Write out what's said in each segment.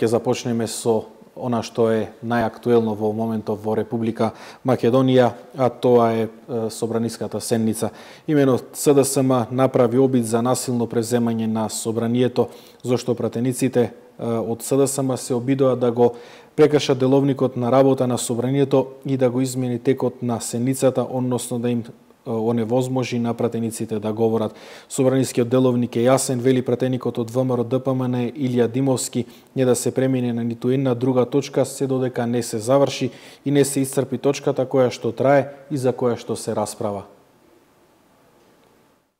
ќе започнеме со она што е најактуелно во моментов во Република Македонија, а тоа е собраниската седница. Имено СДСМ направи обид за насилно преземање на собранието, зашто пратениците од СДСМ се обидоа да го прекршат деловникот на работа на собранието и да го измени текот на седницата, односно да им оневозможи на пратениците да говорат. Собранискиот деловник е јасен, вели пратеникот од ВМРО ДПМН Илија Димовски, не да се премине на ниту една друга точка се додека не се заврши и не се исцрпи точката која што трае и за која што се расправа.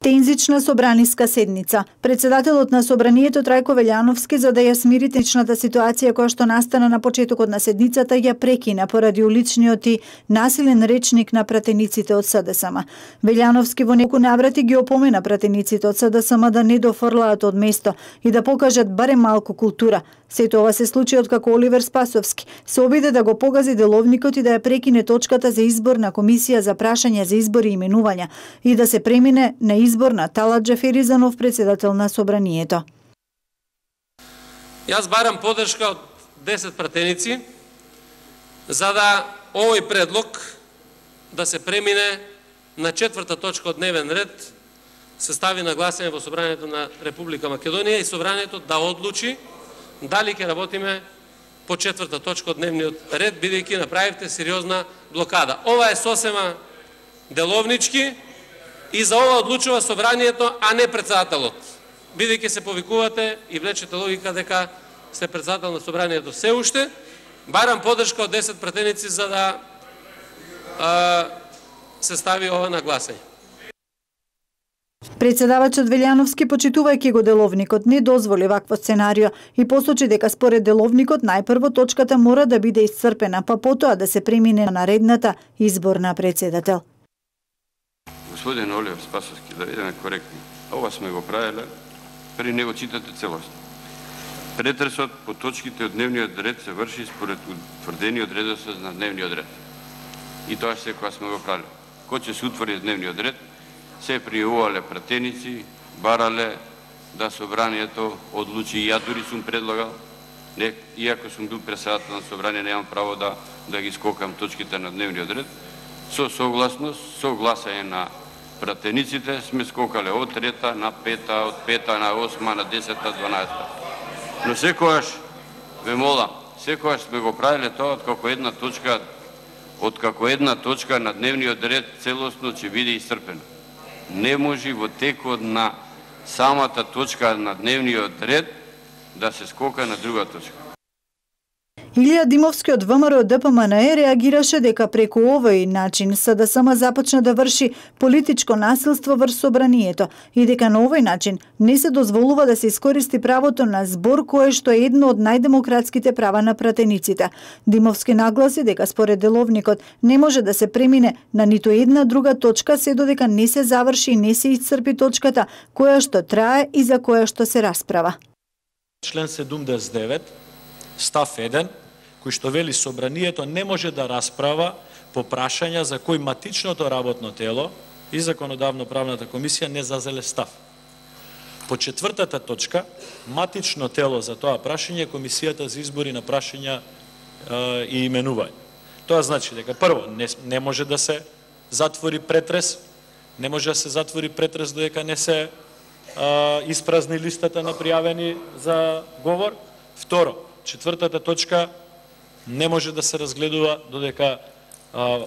Тензична собраниска седница. Председателот на собранието Трајко Велјановски, за да ја смири тензичната ситуација која што настана на почетокот на седницата, ја прекина поради уличниот и насилен речник на пратениците од СДСМ. Велјановски во неколку наврати ги опомена пратениците од СДСМ да не дофрлаат од место и да покажат барем малку култура. Сето ова се случи откако Оливер Спасовски се обиде да го погази деловникот и да ја прекине точката за избор на комисија за прашања за избори и именувања и да се премине на избор на Талат Џафери за нов председател на собранието. Јас барам поддршка од 10 пратеници за да овој предлог да се премине на 4-та точка од дневен ред, се стави на гласање во собранието на Република Македонија и собранието да одлучи дали ќе работиме по 4-та точка од дневниот ред, бидејќи направивте сериозна блокада. Ова е сосема деловнички и за ова одлучува собранието, а не председателот. Бидејќи се повикувате и влечете логика дека сте председател на собранието се уште, барам поддршка од 10 пратеници за да се стави ова на гласање. Председавачот Велјановски, почитувајќи го деловникот, не дозволи вакво сценарио и посочи дека според деловникот најпрво точката мора да биде исцрпена, па потоа да се премине на наредната избор на председател. Господин Оливер Спасовски, да бидеме коректни, ова сме го правеле, пред него читате целосно. Претресот по точките од дневниот ред се врши според утврдениот редослед на дневниот ред. И тоа се кога сме го правеле. Кој ќе се утврди дневниот ред, се пријавувале пратеници, барале да собранието одлучи, и ја дури сум предлагал, иако сум бил председател на собрание, немам право да ги скокам точките на дневниот ред, со согласност, со гласање на пратениците, сме скокале од 3-та на 5-та, од 5-та на 8-та, на 10-та, 12-та. Но секогаш, ве молам, секогаш сме го правиле тоа откако една точка на дневниот ред целосно ќе биде исцрпена. Не може во текот на самата точка на дневниот ред да се скока на друга точка. Илија Димовски од ВМРО ДПМН реагираше дека преку овој начин СДСМ започна да врши политичко насилство врз собранието и дека на овој начин не се дозволува да се искористи правото на збор кое што е едно од најдемократските права на пратениците. Димовски нагласи дека според деловникот не може да се премине на ниту една друга точка се додека не се заврши и не се исцрпи точката која што трае и за која што се расправа. Член 79 став 1 кој што вели собранието не може да расправа по прашања за кои матичното работно тело и законодавно-правната комисија не зазеле став. По 4-та точка, матично тело за тоа прашање е Комисијата за избори на прашања и именување. Тоа значи дека прво не може да се затвори претрес, не може да се затвори претрес додека не се испразни листата на пријавени за говор. Второ, 4-та точка не може да се разгледува додека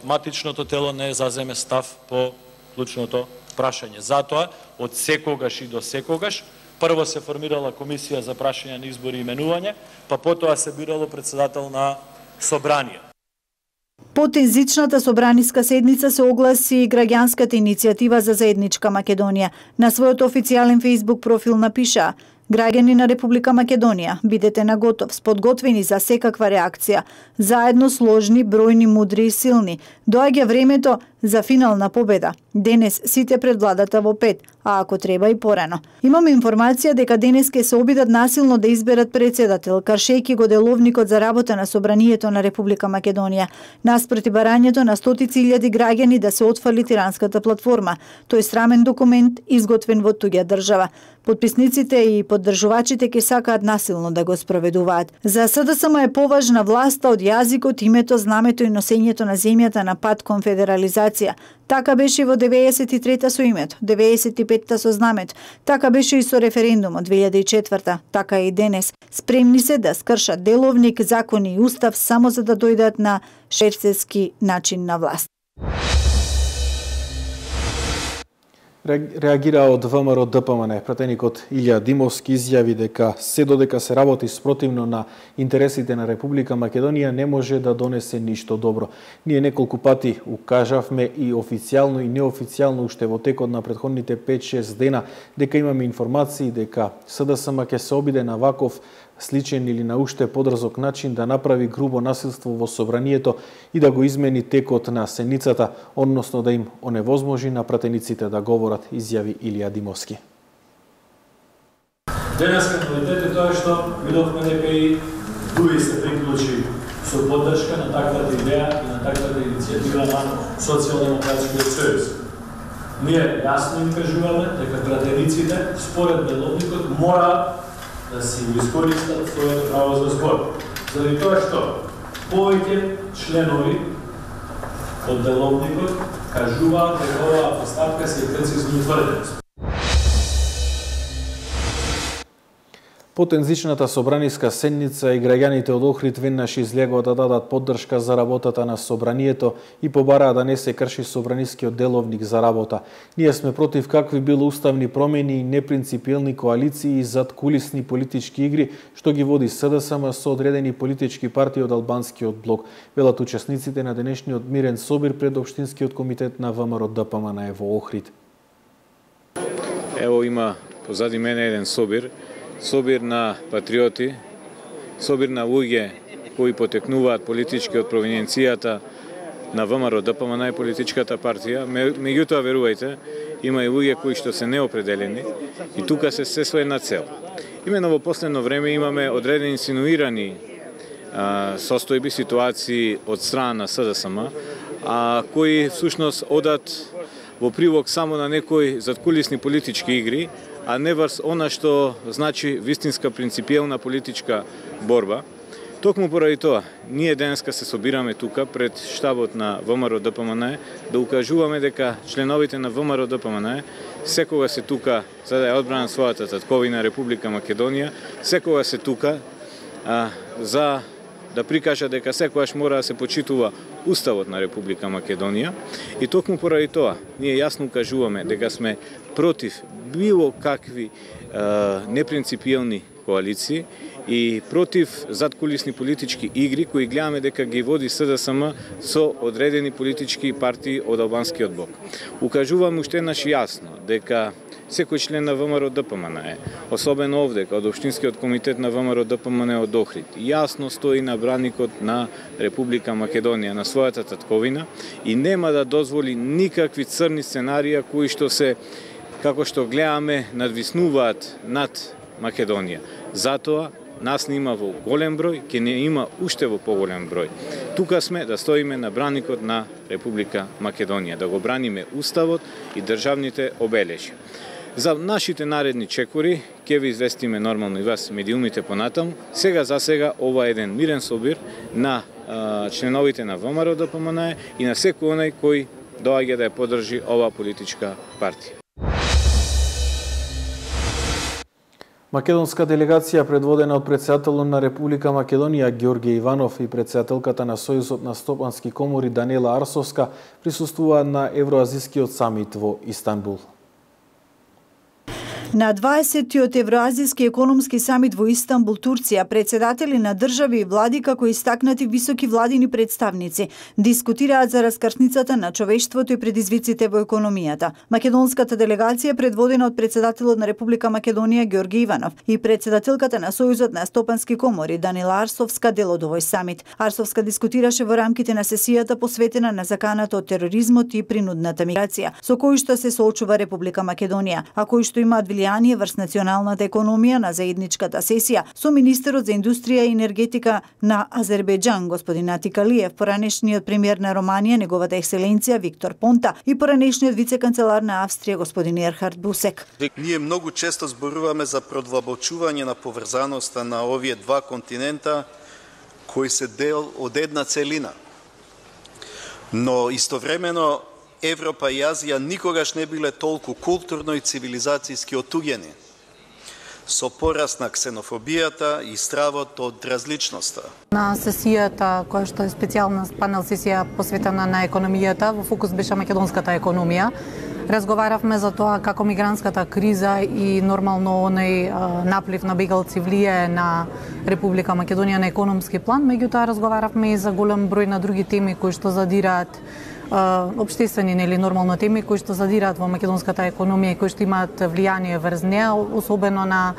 матичното тело не заземе став по клучното прашање. Затоа, од секогаш и до секогаш, прво се формирала комисија за прашања на избори и именување, па потоа се бирало председател на собрание. По тензичната собраниска седница се огласи и граѓанската иницијатива за заедничка Македонија. На својот официјален Facebook профил напиша: Граѓани на Република Македонија, бидете наготов, подготвени за секаква реакција. Заедно сложни, бројни, мудри и силни. Доаѓа времето за финална победа. Денес сите пред владата во 5, а ако треба и порано. Имаме информација дека денес ќе се обидат насилно да изберат председател, кршејќи го деловникот за работа на Собранието на Република Македонија, наспроти барањето на стотици илјади граѓани да се отфали тиранската платформа. Тој срамен документ изготвен во туѓа држава. Подписниците и поддржувачите ќе сакаат насилно да го спроведуваат. За СДСМ е поважна власта од јазикот, името, знамето и носењето на земјата на пат кон федерализација. Така беше во 93-та со името, 95-та со знамето. Така беше и со референдумот 2004-та. Така и денес. Спремни се да скршат деловник, закони и устав само за да дојдат на шерцевски начин на власт. Реагира од ВМРО ДПМН. Пратеникот Илја Димовски изјави дека се додека се работи спротивно на интересите на Република Македонија не може да донесе ништо добро. Ние неколку пати укажавме и официјално и неофицијално уште во текот на претходните 5-6 дена дека имаме информации дека СДСМ ќе се обиде на ваков сличен или на уште подрзок начин да направи грубо насилство во собранието и да го измени текот на седницата, односно да им оневозможи на пратениците да говорат, изјави Илија Димовски. Денеска новитет е тоа што видовме дека и други се приклучи со поддршка на таквата идеја и на таквата иницијатива на Социјалдемократскиот сојуз. Ние јасно им кажуваме дека пратениците, според деловникот, мора да си го искористат своето право за збор. Заради тоа што повеќе членови од деловникот кажуваат дека оваа поставка се прецизно утврдена. Потензичната собраниска седница и граѓаните од Охрид веднаш излегоа да дадат поддршка за работата на собранието и побараа да не се крши собранискиот деловник за работа. Ние сме против какви било уставни промени и непринципиелни коалиции и задкулисни политички игри што ги води СДСМ со одредени политички партии од албанскиот блок, велат учесниците на денешниот мирен собир пред Општинскиот комитет на ВМРО ДПМН во Охрид. Ево има позади мене еден собир на патриоти, собир на луѓе кои потекнуваат политички од провиненцијата на ВМРО ДПМН и политичката партија. Меѓутоа, верувајте, има и луѓе кои што се неопределени и тука се со една цел. Имено во последно време имаме одредени инсинуирани состојби, ситуации од страна на СДСМ, кои всушност одат во прилог само на некои задкулисни политички игри, а не врз она што значи вистинска принципиелна политичка борба. Токму поради тоа, ние денеска се собираме тука пред штабот на ВМРО ДПМН да укажуваме дека членовите на ВМРО ДПМН секогаш се тука за да ја одбранат својата татковина Република Македонија, секогаш се тука за да прикажа дека секогаш мора да се почитува Уставот на Република Македонија и токму поради тоа ние јасно кажуваме дека сме против било какви непринципиелни коалиции и против задкулисни политички игри кои гледаме дека ги води СДСМ со одредени политички партии од албанскиот блок. Укажуваме уште еднаш јасно дека секој член на ВМРО ДПМН, особено овде, од Општинскиот комитет на ВМРО ДПМН од Охрид, јасно стои на браникот на Република Македонија, на својата татковина и нема да дозволи никакви црни сценарија кои што се, како што гледаме, надвиснуваат над Македонија. Затоа нас не има во голем број, ќе не има уште во поголем број. Тука сме да стоиме на браникот на Република Македонија, да го браниме Уставот и државните обележја. За нашите наредни чекори ќе ви известиме нормално и вас медиумите понатаму. Сега за сега ова е еден мирен собир на членовите на ВМРО ДПМН и на секој онај кој доаѓа да ја поддржи ова политичка партија. Македонска делегација предводена од претседателот на Република Македонија Ѓорѓе Иванов и претседателката на Сојузот на стопански комори Даниела Арсовска присуствуваа на Евроазискиот самит во Истанбул. На 20-тиот Евроазиски економски самит во Истанбул, Турција, председатели на држави и влади како истакнати високи владини представници дискутираат за раскршницата на човештвото и предизвиците во економијата. Македонската делегација, предводена од председателот на Република Македонија Ѓорги Иванов и председателката на Сојузот на стопански комори Данила Арсовска, дел од овој самит. Арсовска дискутираше во рамките на сесијата посветена на заканата од тероризмот и принудната миграција, со кој што се соочува Република Македонија, а кој што имаат влијание врз националната економија. На заедничката сесија со министерот за индустрија и енергетика на Азербејџан господин Атик Алиев, поранешниот премиер на Романија неговата екселенција Виктор Понта и поранешниот вице-канцелар на Австрија господин Ерхард Бусек. Ние многу често зборуваме за продлабочување на поврзаноста на овие два континента кои се дел од една целина. Но истовремено Европа и Азија никогаш не биле толку културно и цивилизацијски отуѓени, со пораст на ксенофобијата и стравот од различноста. На сесијата, која што е специјална панел сесија посветена на економијата, во фокус беше македонската економија. Разговаравме за тоа како мигрантската криза и нормално оној наплив на бегалци влијае на Република Македонија на економски план, меѓутоа разговаравме и за голем број на други теми кои што задираат општествени или нормално теми кои што задираат во македонската економија и кои што имаат влијание врз неа, особено на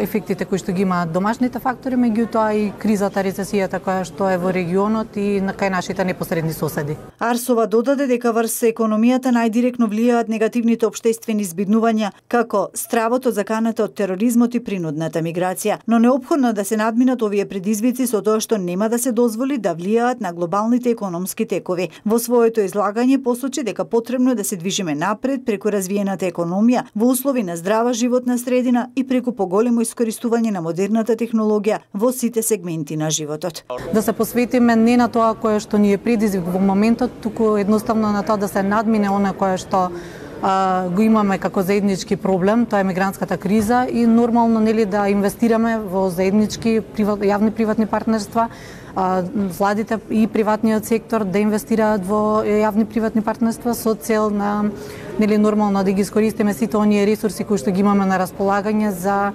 ефектите кои што ги имаат домашните фактори, меѓутоа и кризата, рецесијата која што е во регионот и кај нашите непосредни соседи. Арсова додаде дека врз економијата најдиректно влијаат негативните општествени збиднувања, како стравото заканата од тероризмот и принудната миграција, но неопходно да се надминат овие предизвици со тоа што нема да се дозволи да влијаат на глобалните економски текови. Во своето излагање посочи дека потребно е да се движиме напред преку развиената економија во услови на здрава животна средина и преку поголемо искористување на модерната технологија во сите сегменти на животот. Да се посветиме не на тоа кое што ни е предизвик во моментот, туку едноставно на тоа да се надмине она кое што го имаме како заеднички проблем, тоа е мигрантската криза и нормално нели да инвестираме во заеднички јавни приватни партнерства, владите и приватниот сектор да инвестираат во јавни приватни партнерства со цел на нели нормално да ги искористиме сите оние ресурси кои што ги имаме на располагање за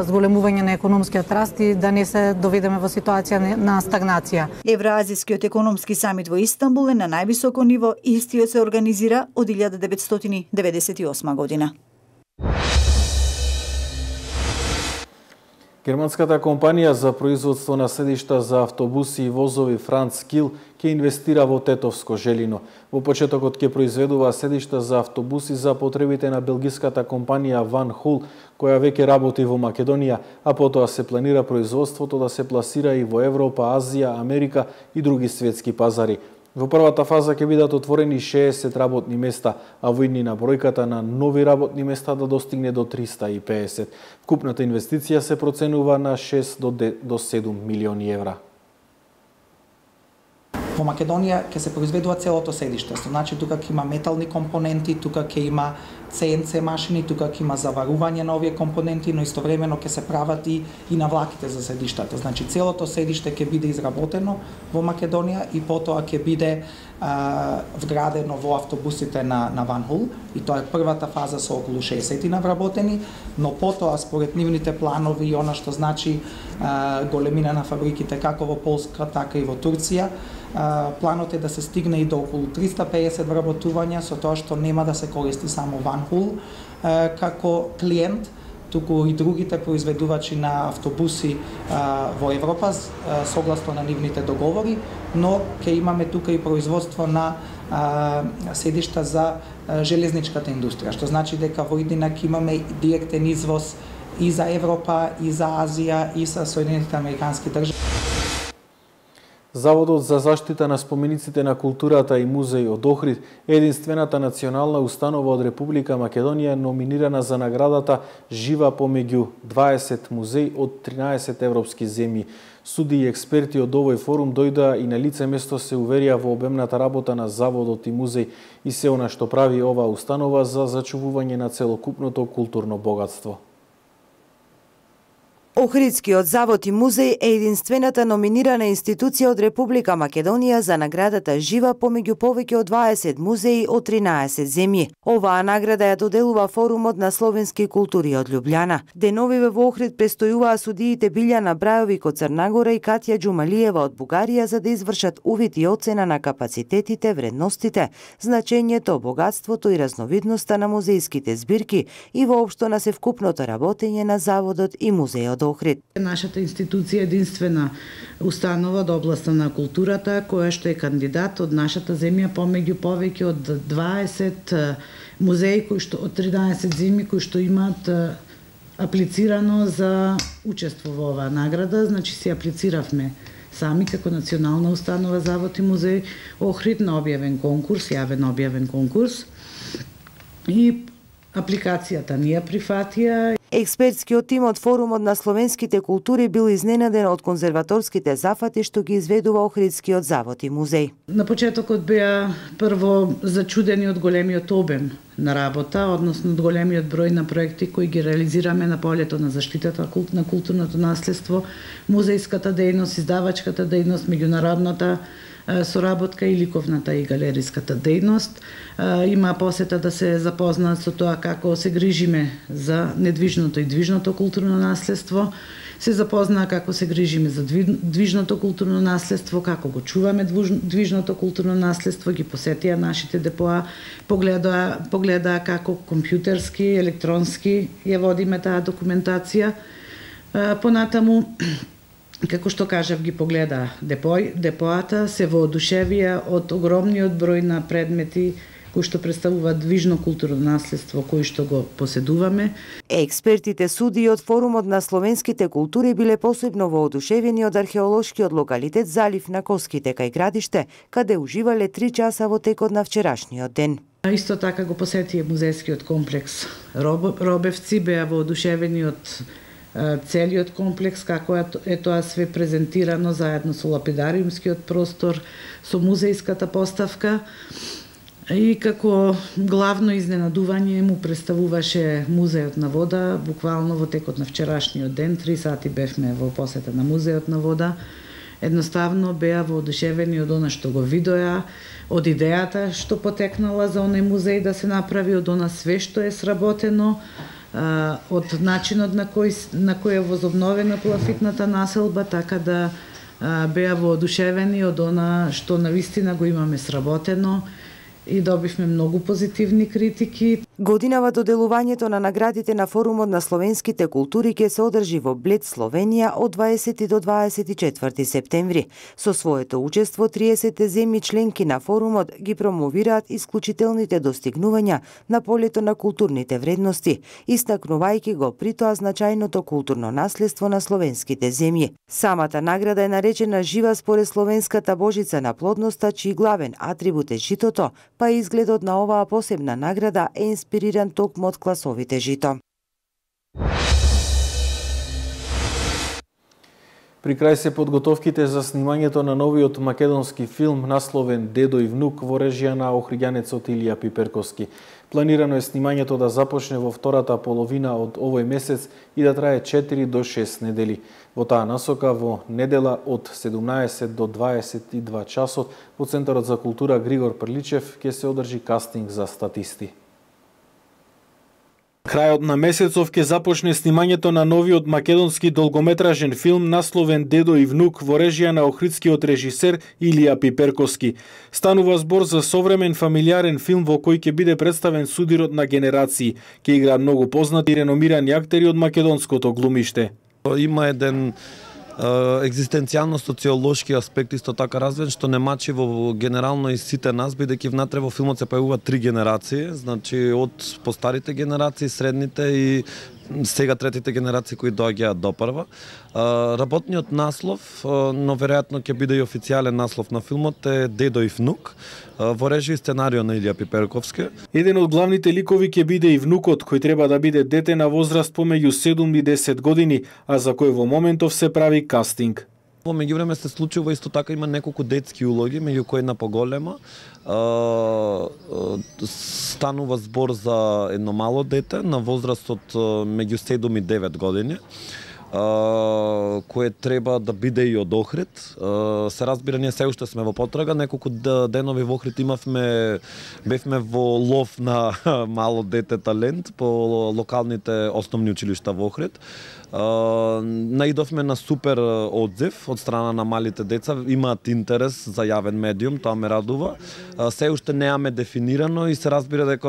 зголемување на економскиот раст и да не се доведеме во ситуација на стагнација. Евроазискиот економски самит во Истанбул е на највисоко ниво и истиот се организира од 1998 година. Германската компанија за производство на седишта за автобуси и возови Франц Кил ќе инвестира во Тетовско Желино. Во почетокот ќе произведува седишта за автобуси за потребите на белгиската компанија Van Hool, која веќе работи во Македонија, а потоа се планира производството да се пласира и во Европа, Азија, Америка и други светски пазари. Во првата фаза ќе бидат отворени 60 работни места, а во иднина бројката на нови работни места да достигне до 350. Вкупната инвестиција се проценува на 6 до 7 милиони евра. Во Македонија ќе се произведува целото седиште, значи тука ќе има метални компоненти, тука ќе има CNC машини, тука ќе има заварување на овие компоненти, но истовремено ќе се прават и на влаките за седиштата. Значи целото седиште ќе биде изработено во Македонија и потоа ќе биде вградено во автобусите на Van Hool и тоа е првата фаза со околу 60 навработени, но потоа според нивните планови и она што значи големина на фабриките како во Полска, така и во Турција, планот е да се стигне и до околу 350 вработувања, со тоа што нема да се користи само Van Hool како клиент, туку и другите произведувачи на автобуси во Европа согласно на нивните договори, но ќе имаме тука и производство на седишта за железничката индустрија, што значи дека во иднина ќе имаме директен извоз и за Европа, и за Азија, и за Соединетите американски држави. Заводот за заштита на спомениците на културата и музејот Охрид е единствената национална установа од Република Македонија номинирана за наградата Жива помеѓу 20 музеи од 13 европски земји. Суди и експерти од овој форум дојдоа и на лице место се уверија во обемната работа на заводот и музеј и се она што прави оваа установа за зачувување на целокупното културно богатство. Охридскиот завод и музеј е единствената номинирана институција од Република Македонија за наградата Жива помеѓу повеќе од 20 музеи од 13 земји. Оваа награда ја доделува Форумот на словенски култури од Љубљана. Деновиве во Охрид престојуваа судиите Билјана Брајовик од Црнагора и Катја Џумалиева од Бугарија за да извршат увид и оцена на капацитетите, вредностите, значењето, богатството и разновидноста на музејските збирки и воопшто на севкупното работење на заводот и музејот Охрид. Нашата институција е единствена установа од областа на културата која што е кандидат од нашата земја помеѓу повеќе од 20 музеи кои што од 13 земји кои што имаат аплицирано за учество во оваа награда, значи си аплициравме сами како национална установа завод и музеј Охрид на објавен конкурс, јавен објавен конкурс и апликацијата ни ја прифатија. Експертскиот тим од Форумот на словенските култури бил изненаден од конзерваторските зафати што ги изведува Охридскиот завод и музеј. На почетокот беа прво зачудени од големиот обем на работа, односно од големиот број на проекти кои ги реализираме на полето на заштитата на културното наследство, музејската дејност, издавачката дејност, меѓународната соработка и ликовната и галериската дејност. Има посета да се запознаат со тоа како се грижиме за недвижното и движното културно наследство, се запознаа како се грижиме за движното културно наследство, како го чуваме движното културно наследство, ги посетија нашите депоа, погледаа како компјутерски, електронски ја водиме таа документација. Понатаму, како што кажав, ги погледа депоата, се воодушевија од огромниот број на предмети кои што представуваат движно културно наследство кои што го поседуваме. Експертите суди од Форумот на словенските култури биле посебно воодушевени од археолошкиот локалитет Залив на Коските кај градиште, каде уживале 3 часа во текот на вчерашниот ден. Исто така го посетија музејскиот комплекс Робевци, беа воодушевени од целиот комплекс, како е тоа све презентирано заедно со лапидариумскиот простор, со музејската поставка. И како главно изненадување му представуваше Музејот на вода, буквално во текот на вчерашниот ден, 3 сати бевме во посета на Музејот на вода. Едноставно беа воодушевени од она што го видоа, од идејата што потекнала за оној музеј да се направи, од она све што е сработено, од начинот на кој е возобновена клафитната населба, така да беа воодушевени од она што навистина го имаме сработено и добивме многу позитивни критики. Годинава доделувањето на наградите на Форумот на словенските култури ќе се одржи во Блед, Словенија од 20 до 24 септември. Со своето учество 30 земји членки на Форумот ги промовираат исклучителните достигнувања на полето на културните вредности, истакнувајќи го при тоа значајното културно наследство на словенските земји. Самата награда е наречена Жива според словенската божица на плодноста, чиј главен атрибут е житото, па изгледот на оваа посебна награда е инспириран токму од класовите жито. При крај се подготовките за снимањето на новиот македонски филм насловен Дедо и внук во режија на охриѓанецот Илија Пиперковски. Планирано е снимањето да започне во втората половина од овој месец и да трае 4 до 6 недели. Во таа насока во недела од 17 до 22 часот во Центарот за култура Григор Прличев ќе се одржи кастинг за статисти. Крајот на месецов ќе започне снимањето на новиот македонски долгометражен филм насловен Дедо и внук во режија на охридскиот режисер Илија Пиперковски. Станува збор за современ фамилиарен филм во кој ќе биде представен судирот на генерации. Ќе играат многу познати и реномирани актери од македонското глумиште. Има еден екзистенцијално социолошки аспект исто така развен, што не мачи во генерално и сите нас, бидејќи внатре во филмот се појавуваат 3 генерации, значи од постарите генерации, средните и сега третите генерации кои доаѓаат до прва. Работниот наслов, но веројатно ќе биде и официјален наслов на филмот, е Дедо и внук, во режија и сценарио на Илија Пиперковски. Еден од главните ликови ќе биде и внукот, кој треба да биде дете на возраст помеѓу 7 и 10 години, а за кој во моментов се прави кастинг. Во меѓувреме се случува исто така, има неколку детски улоги, меѓу кои една поголема. Станува збор за едно мало дете на возраст од меѓу 7 и 9 години. кое треба да биде и од Охрид. Се разбира, ние се уште сме во потрага, неколку денови во Охрид бевме во лов на мало дете талент по локалните основни училишта во Охрид. Наидовме на супер одзив од страна на малите деца, имаат интерес за јавен медиум, тоа ме радува. Се уште неаме дефинирано и се разбира дека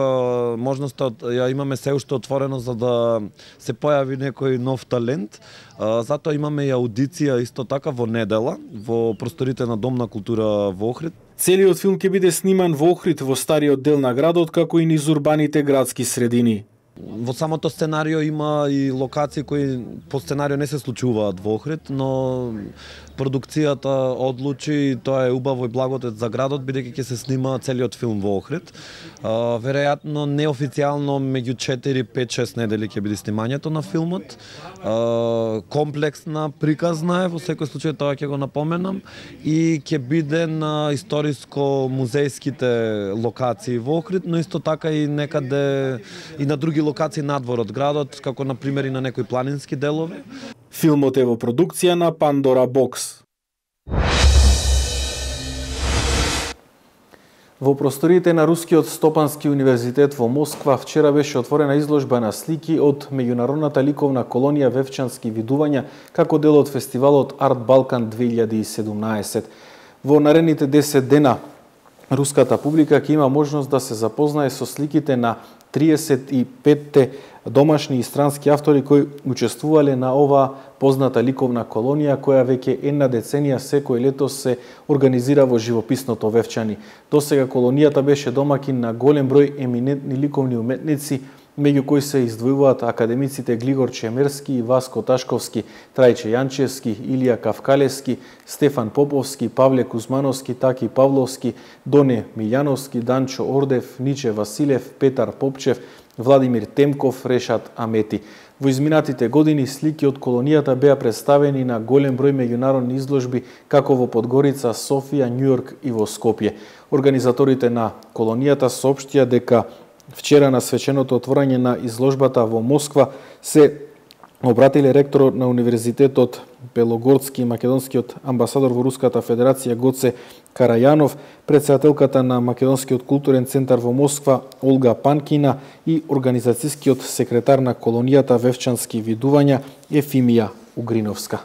можноста ја имаме се уште отворено за да се појави некој нов талент. Затоа имаме и аудиција исто така во недела во просторите на Дом на култура во Охрид. Целиот филм ќе биде сниман во Охрид, во стариот дел на градот, како и низ урбаните градски средини. Во самото сценарио има и локации кои по сценарио не се случуваат во Охрид, но продукцијата одлучи, тоа е убаво и благодет за градот, бидејќи ќе се снима целиот филм во Охрид. Веројатно неофицијално меѓу 4, 5, 6 недели ќе биде снимањето на филмот. Комплексна, приказна е, во секој случај тоа ќе го напоменам, и ќе биде на историско-музејските локации во Охрид, но исто така и некаде и на други локации надвор од градот, како на пример и на некои планински делови. Филмот е во продукција на Pandora Box. Во просторите на Рускиот Стопански универзитет во Москва вчера беше отворена изложба на слики од меѓународната ликовна колонија Вевчански видувања како дел од фестивалот Арт Балкан 2017. Во наредните 10 дена руската публика ќе има можност да се запознае со сликите на 35 домашни и странски автори кои учествувале на оваа позната ликовна колонија, која веќе една деценија секој лето се организира во живописното Вевчани. Досега колонијата беше домакин на голем број еминентни ликовни уметници, меѓу кои се издвојуваат академиците Глигор Чемерски и Васко Ташковски, Трајче Јанчевски, Илија Кавкалевски, Стефан Поповски, Павле Кузмановски, Таки Павловски, Доне Милјановски, Данчо Ордев, Ниче Василев, Петар Попчев, Владимир Темков, Решат Амети. Во изминатите години слики од колонијата беа представени на голем број меѓународни изложби како во Подгорица, Софија, Њујорк и во Скопје. Организаторите на колонијата соопштија дека вчера на свеченото отворање на изложбата во Москва се обратиле ректорот на Универзитетот Белогорски и македонскиот амбасадор во Руската Федерација Гоце Карајанов, претседателката на Македонскиот културен центар во Москва Олга Панкина и организацијскиот секретар на колонијата Вевчански видувања Ефимија Угриновска.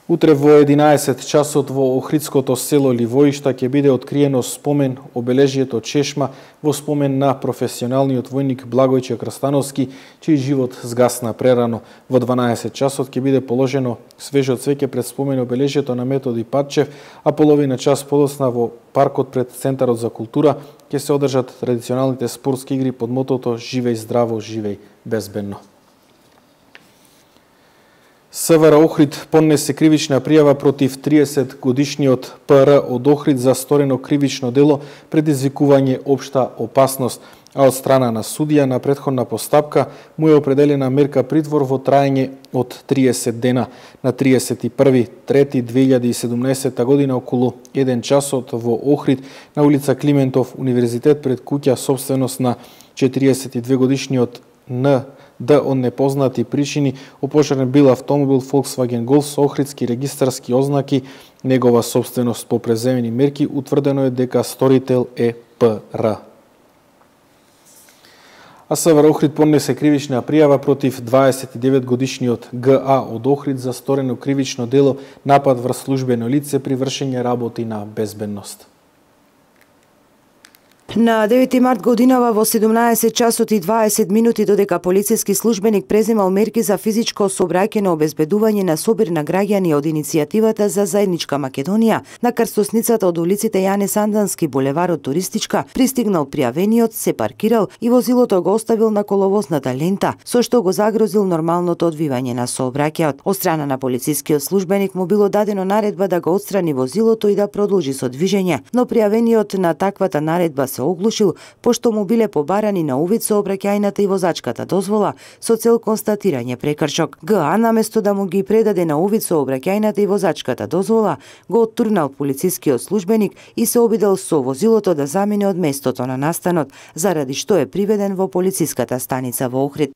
Утре во 11 часот во Охридското село Ливоишта ќе биде откриено спомен обележието чешма во спомен на професионалниот војник Благојче Крстановски, чиј живот згасна прерано. Во 12 часот ќе биде положено свежо цвеќе пред спомен обележието на Методи Патчев, а половина час подоцна во паркот пред Центарот за култура ќе се одржат традиционалните спортски игри под мотото Живеј здраво, живеј безбедно. СВР Охрид поднесе кривична пријава против 30-годишниот ПР од Охрид за сторено кривично дело предизвикување општа опасност, а од страна на судија на претходна постапка му е определена мерка притвор во траење од 30 дена. На 31.3.2017 година околу 1 часот во Охрид на улица Климентов универзитет пред куќа собственост на 42 годишниот Н.Д. од непознати причини опожарен бил автомобил Volkswagen Golf со охридски регистарски ознаки, негова собственост. По преземени мерки утврдено е дека сторител е П.Р. А СВР Охрид поднесе кривична пријава против 29-годишниот Г.А. од Охрид за сторено кривично дело напад врз службено лице при вршење работи на безбедност. На 9 март годинава во 17 часот и 20 минути додека полициски службеник преземал мерки за физичко сообраќајно обезбедување на собир на граѓани од иницијативата за заедничка Македонија, на крстосницата од улиците Јане Сандански, булеварот Туристичка, пристигнал пријавениот, се паркирал и возилото го оставил на коловозната лента, со што го загрозил нормалното одвивање на сообраќајот. Од страна на полицискиот службеник му било дадено наредба да го отстрани возилото и да продолжи со движење, но пријавениот на таквата наредба се оглушил, пошто му биле побарани на увид сообраќајната и возачката дозвола со цел констатирање прекршок. ГА наместо да му ги предаде на увид сообраќајната и возачката дозвола, го оттурнал полицискиот службеник и се обидел со возилото да замине од местото на настанот, заради што е приведен во полициската станица во Охрид.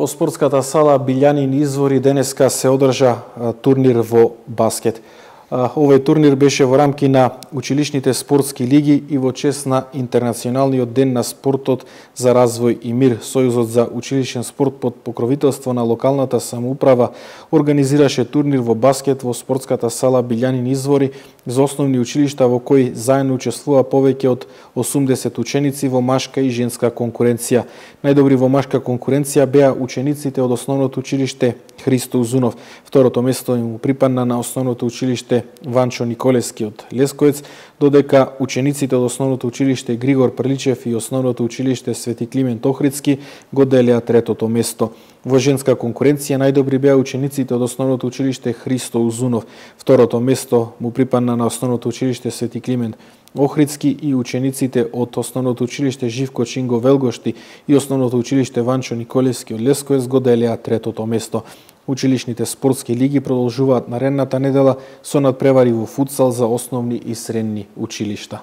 во спортската сала Билјанин извори денеска се одржа турнир во баскет. Овој турнир беше во рамки на училишните спортски лиги и во чест на Интернационалниот ден на спортот за развој и мир. Сојузот за училишен спорт под покровителство на локалната самоуправа организираше турнир во баскет во спортската сала Билјанин извори за основни училишта во кои заедно учествува повеќе од 80 ученици во машка и женска конкуренција. Најдобри во машка конкуренција беа учениците од основното училиште Христо Узунов. Второто место им припадна на основното училиште Ванчо Николевски од Лесковец, додека учениците од основното училиште Григор Прличев и основното училиште Свети Климент Охридски го делеа третото место. Во женска конкуренција најдобри беа учениците од основното училиште Христо Узунов. Второто место му припадна на основното училиште Свети Климент Охридски и учениците од основното училиште Живко Чинго Велгошти и основното училиште Ванчо Николевски од Лесковец го делеа третото место. Училишните спортски лиги продолжуваат наредната недела со надпревари во футсал за основни и средни училишта.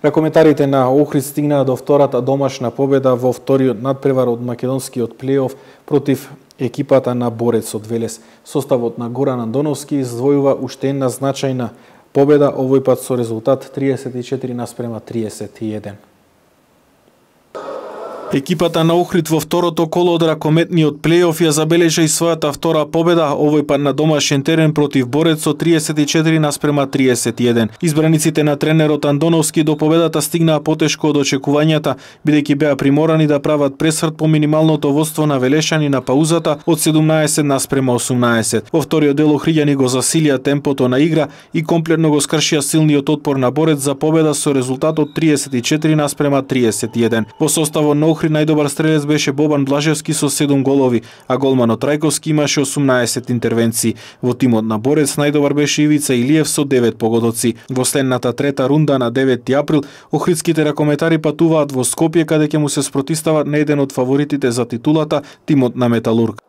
Ракометарите на Охрид стигнаа до втората домашна победа во вториот надпревар од македонскиот плейоф против екипата на Борец од Велес. Составот на Горан Андоновски издвојува уште една значајна победа, овој пат со резултат 34:31. Екипата на Охрид во второто коло од ракометниот плейоф ја забележа и својата втора победа, овој пат на домашен терен против Борец со 34:31. Избраниците на тренерот Андоновски до победата стигнаа потешко од очекувањата, бидејќи беа приморани да прават пресврт по минималното водство на Велешани на паузата од 17:18. Во вториот дел охриѓани го засилија темпото на игра и комплетно го скршија силниот отпор на Борец за победа со резултатот 34:31. Во составот на Охрид најдобар стрелец беше Бобан Блажевски со 7 голови, а голманот Трајковски имаше 18 интервенции. Во тимот на Борец најдобар беше Ивица Илиев со 9 погодоци. Во следната трета рунда на 9 април, охридските ракометари патуваат во Скопје каде ќе му се спротистават на еден од фаворитите за титулата, тимот на Металург.